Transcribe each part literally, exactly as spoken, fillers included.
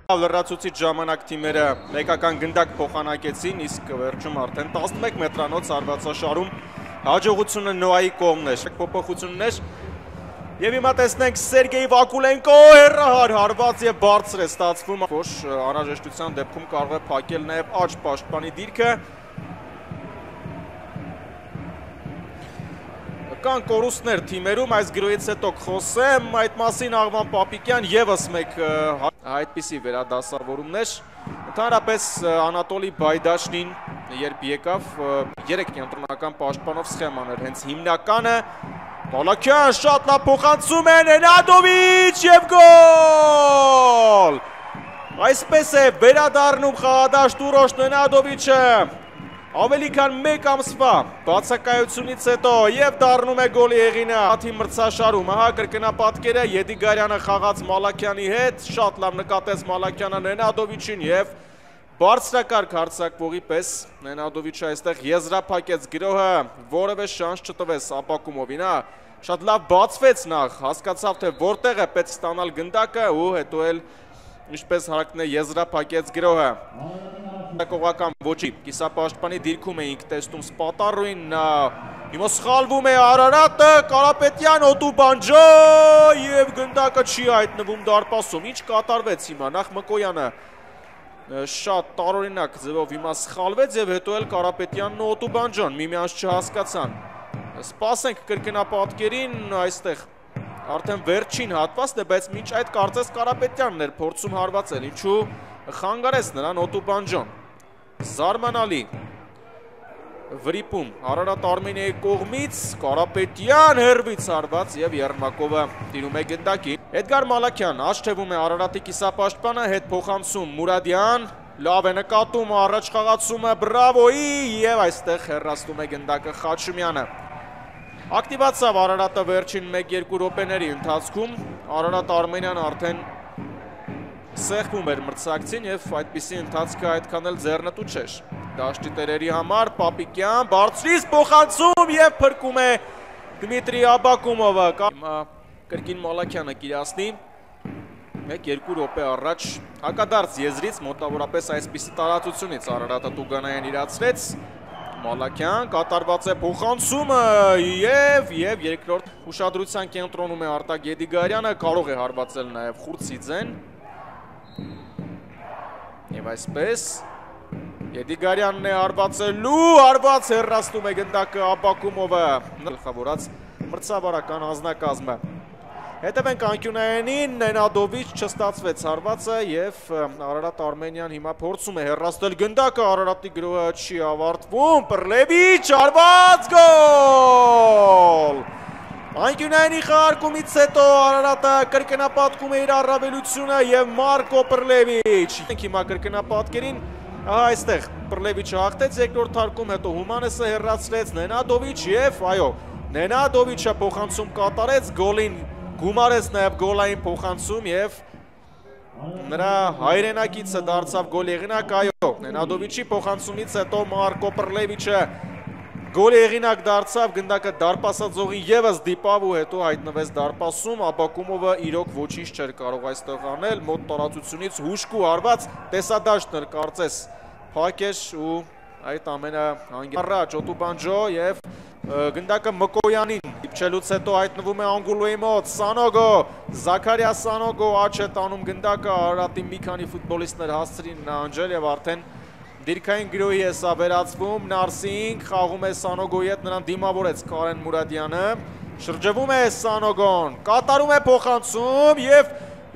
Լրացուցիչ ժամանակ թիմերը մեկական գնդակ փոխանակեցին, իսկ վերջում արդեն տասնմեկ մետրանոց հարվածաշարում հաջողությունը Նոայի կողմն էր։ Փոփոխություններ եւ հիմա տեսնենք Սերգեյ Վակուլենկո հեռահար հարված եւ բարձր է ստացվում, որ անհրաժեշտության դեպքում կարող է փակել նաեւ աջ պաշտպանի դիրքը։ Կան կորուստներ թիմերում, այս գրոյից հետո կխոսեմ, այդ մասին Աղվան Պապիկյան եւս մեկ այդպիսի վերադասավորումներ։ Ընդհանրապես Անատոլի Բայդաշնին երբ եկավ, երեք կենտրոնական պաշտպանով սխեման էր հենց հիմնականը։ Մալաքյան շատ լավ փոխանցում է, Նենադովիչ եւ գոլ։ Այսպես է վերադառնում խաղադաշտ Ուրոշ Նենադովիչը։ Ավելի քան մեկ ամսվա բացակայությունից հետո եւ դառնում է գոլի հեղինը աթի մրցաշարում։ Ահա կրկնապատկերը Եդիգարյանը խաղաց Մալաքյանի հետ, շատ լավ նկատեց Մալաքյանը Նենադովիչին եւ բարձրակարգ հարձակվողի պես Նենադովիչը այստեղ եզրափակեց գրոհը, որևէ շանս չտվեց Ապակումովին, հա, շատ լավ բացվեց նախ, հասկացավ թե որտեղ է պետք ստանալ գնդակը ու հետո էլ ինչպես հարակն է եզրափակեց գրոհը։ Կողական ոչի, կիսապաշտպանի դիրքում էինք տեսնում Սպատարոին, հիմա սխալվում է Արարատը, Կարապետյան, Օտուբանջո և գնդակը չի հայտնվում դարպասում, ինչ կատարվեց հիմա, նախ Մկոյանը շատ տարօրինակ ձևով հիմա սխալվեց և հետո էլ Կարապետյանն ու Օտուբանջոն միմյանց չհասկացան։ Սպասենք կրկնապատկերին, այստեղ արդեն վերջին հատվածն է, բայց մինչ այդ կարծես Կարապետյանն էր փորձում հարվածել, ինչու խանգարեց նրան Օտուբանջոն։ Զարմանալի վրիպում Արարատ Արմենիայի կողմից Կարապետյան հեռվից հարված եւ Երմակովը տիրում է գնդակի։ Էդգար Մալաքյան աչքևում է Արարատի կիսապաշտպանը, հետ փոխանցում Մուրադյան, լավ է նկատում առաջ խաղացումը բրավոյի եւ այստեղ հեռացնում է գնդակը Խաչումյանը։ Ակտիվացավ Արարատը վերջին մեկ-երկու րոպեների ընթացքում, Արարատ Արմենյան արդեն սեղմում էր մրցակցին եւ այդպիսի ընթացքը այդքան էլ ձեռնտու չէր։ Դաշտի տերերի համար Պապիկյան բարձրից փոխանցում եւ փրկում է Դմիտրի Աբակումովը։ Հիմա կրկին Մալաքյանը կիրասնի մեկ-երկու րոպե առաջ հակադարձ եզրից մոտավորապես այսպիսի տարածությունից Արարատը Տուգանայան իրացրեց։ Մալաքյան կատարված է փոխանցումը եւ եւ երկրորդ ուշադրության կենտրոնում է Արտակ Եդիգարյանը, կարող է հարվածել նաեւ Խուրցիձեն։ Եվ այսպես Եդիգարյանն է հարվածելու, հարված հեռացնում է գնդակը Աբակումովը, գլխավորած մրցավարական անձնակազմը։ Հետևենք անկյունայանին, Նենադովիչ չստացվեց հարվածը եւ Արարատ Արմենյան հիմա փորձում է հեռացնել գնդակը, Արարատի գրոհը չի ավարտվում, Պռլևիչ հարված գոլ։ Անկյունայինի խաղարկումից հետո Արարատը կրկնապատկում է իր առավելությունը եւ Մարկո Պռլևիչ։ Հիմա կրկնապատկերին, ահա այստեղ Պռլևիչը հաղթեց երկրորդ հարկում, հետո Հումանեսը հեռացրեց Նենադովիչ եւ այո, Նենադովիչը փոխանցում կատարեց, գոլին գումարեց նաեւ գոլային փոխանցում եւ նրա հայրենակիցը դարձավ գոլ եղինակ, այո, Նենադովիչի փոխանցումից հետո Մարկո Պռլևիչը գոլ եղինակ դարձավ, գնդակը դարպասաձողին եւս դիպավ ու հետո հայտնվեց դարպասում, Աբակումովը իրոք ոչինչ չէր կարող այստեղ անել, մոտ տարածությունից հուշկու հարված տեսադաշտն էր կարծես փակեր ու այդ ամենը հանգարաջ Օտուբանջո եւ գնդակը Մկոյանին իպչելուց հետո հայտնվում է Անգուլոյի մոտ, Սանոգո, Զաքարյա Սանոգո աչ է տանում գնդակը, Արարատի մի քանի ֆուտբոլիստներ հասցրին նահանջել եւ արդեն դիրքային գրոհի է սա վերածվում, Նարսինգ խաղում է Սանոգոյի հետ, նրան դիմավորեց Կարեն Մուրադյանը, շրջվում է Սանոգոն, կատարում է փոխանցում եւ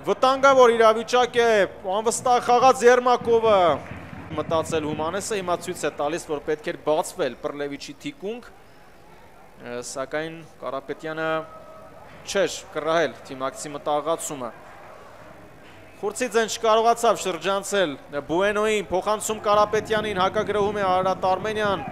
վտանգավոր իրավիճակ է, անվստահ խաղաց Երմակովը, մտածել Հումանեսը, հիմա ցույց է տալիս, որ պետք էր բացվել Պռլևիչի թիկունք, սակայն Կարապետյանը չէր կռահել թիմակցի մտահղացումը։ Խուրցիձեն չկարողացավ շրջանցել Բուենոյին, փոխանցում Կարապետյանին, հակագրոհում է Արարատ Արմենյան,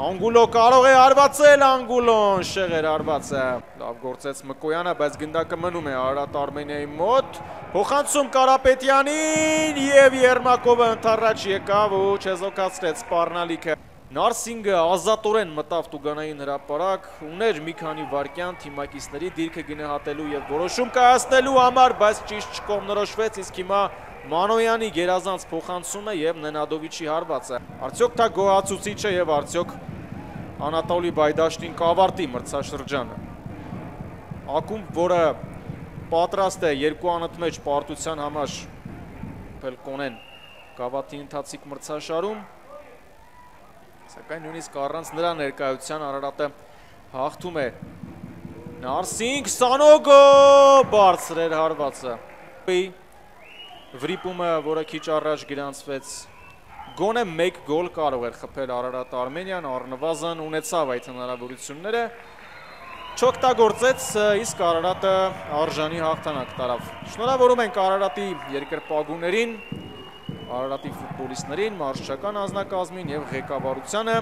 Անգուլո կարող է հարվածել, Անգուլոն շեղ էր հարվածը, լավ գործեց Մկոյանը, բայց գնդակը մնում է Արարատ Արմենիայի մոտ, փոխանցում Կարապետյանին եւ Երմակովը ընդառաջ եկավ ու չեզոքացրեց սպառնալիքը։ Նարսինգը ազատորեն մտավ Տուգանային հրապարակ, ուներ մի քանի վայրկյան թիմակիցների դիրքը գնահատելու եւ որոշում կայացնելու համար, բայց ճիշտ չկողմնորոշվեց, իսկ հիմա Մանոյանի գերազանց փոխանցումը եւ Նենադովիչի հարվածը։ Արդյոք դա գոհացուցիչ է եւ արդյոք Անատոլի Բայդաշտին կավարտի մրցաշրջանը։ Ակումբ, որը պատրաստ է երկու անընդմեջ պարտության համար Պելկոնեն գավաթի ընթացիկ մրցաշարում, սակայն նույնիսկ առանց նրա ներկայության Արարատը հաղթում է Նարսինգ Սանոգը բարձր էր հարվածը։ Վրիպումը, որը քիչ առաջ գրանցվեց, գոնե մեկ գոլ կարող էր խփել Արարատ Արմենիան, առնվազն ունեցավ այդ հնարավորությունները, չօգտագործեց, իսկ Արարատը արժանի հաղթանակ տարավ։ Շնորհավորում ենք Արարատի երկրպագուներին, Արարատի ֆուտբոլիստներին, մարզչական անձնակազմին եւ ղեկավարությանը։